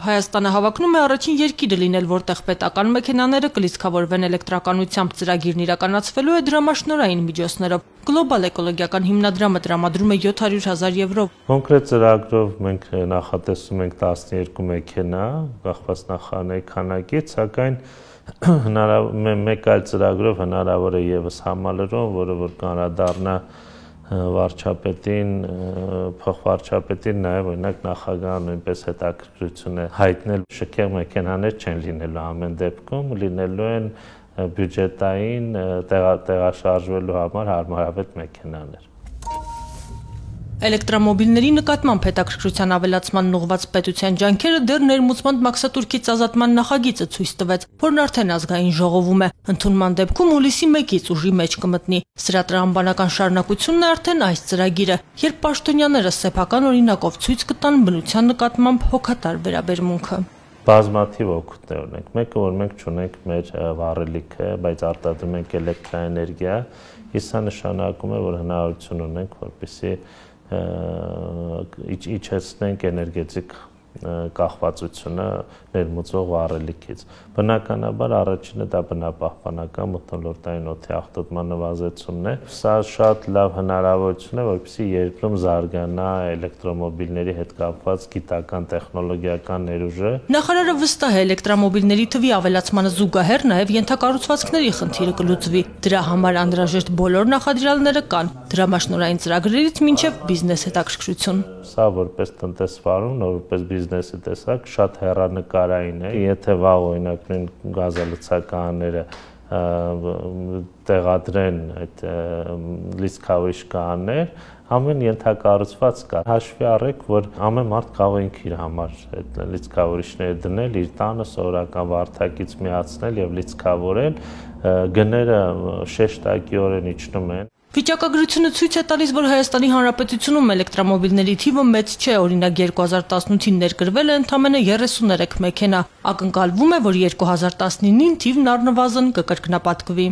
Հայաստանը հավակնում է առաջին երկիրը լինել, որտեղ պետական մեքենաները կլիցքավորվեն էլեկտրականությամբ ծրագիրն իրականացվելու է դրամաշնորհային միջոցներով։ Գլոբալ էկոլոգիական հիմնադրամը տրամադրում է 700,000 եվրո։ Կոնկրետ ծրագրով մենք նախատեսում ենք 12 մեքենա, կախված նախարարների քանակից, սակայն մեկ այլ ծրագրով հնարավոր է եւս համալրում, որը որ կանրադառնա վարչապետին, փոխվարչապետին, նաև օրինակ նախագահը նույնպես հետաքրքրություն է հայտնել շքեղ մեքենաներ չեն լինելու ամեն դեպքում, լինելու են բյուջետային տեղաշարժվելու համար հարմարավետ մեքենաներ։ Էլեկտրամոբիլների նկատմամբ հետաքրքրության ավելացման ուղղված պետության ջանքերը դեռ ներմուծման մաքսատուրքից ազատման նախագիծը ցույց տվեց, որն արդեն ազգային ժողովում է։ Ընդունման դեպքում հուլիսի 1-ից ուժի մեջ կմտնի։ Սրա տրամաբանական շարունակությունն է արդեն այս ծրագիրը, երբ պաշտոնյաները սեփական օրինակով ցույց կտան բնության նկատմամբ հոգատար վերաբերմունքը։ Բազմաթիվ օգուտներ ունենք։ Մեկը, որ մենք չունենք մեր վառելիքը, բայց արտադրում ենք էլեկտրաէներգիա, իսկ սա նշանակում է, որ հնարավորություն ունենք, որպեսզի իջեցնենք էներգետիկ կախվածությունը ներմուծող վառելիքից։ Բնականաբար առաջինը դա բնապահպանական մթնոլորտային օդի աղտոտման նվազեցումն է։ Սա շատ լավ հնարավորություն է, որպեսզի երկրում զարգանա էլեկտրոմոբիլների հետ կապված գիտական տեխնոլոգիական ներուժը։ Նախարարը վստահ է էլեկտրոմոբիլների թվի ավելացմանը զուգահեռ նաև ենթակառուցվածքների խնդիրը կլուծվի։ Դրա համար անհրաժեշտ բոլոր նախադրյալները կան, դրամաշնորհային ծրագրերից մինչև բիզնես հետաքրքրություն։ Սա որպես տնտեսվարում, որպես բիզնեսի տեսակ շատ հեռանկարային է, եթե վաղ օրինակ նույն գազալցականները տեղադրեն այդ լիցքավորիչ կաներ, ամեն ենթակառուցված կա։ Հաշվի առեք, որ ամեն մարդ կարող է ինքը իր համար այդ լիցքավորիչները դնել, իր տանը սովորական վարդակից միացնել եւ լիցքավորել, գները շեշտակիորեն իջնում են։ Վիճակագրությունը ցույց է տալիս, որ Հայաստանի Հանրապետությունում էլեկտրոմոբիլների թիվը մեծ չէ, օրինակ 2018-ին ներկրվել է ընդամենը 33 մեքենա, ակնկալվում է, որ 2019-ին թիվն առնվազն կկրկնապատկվի։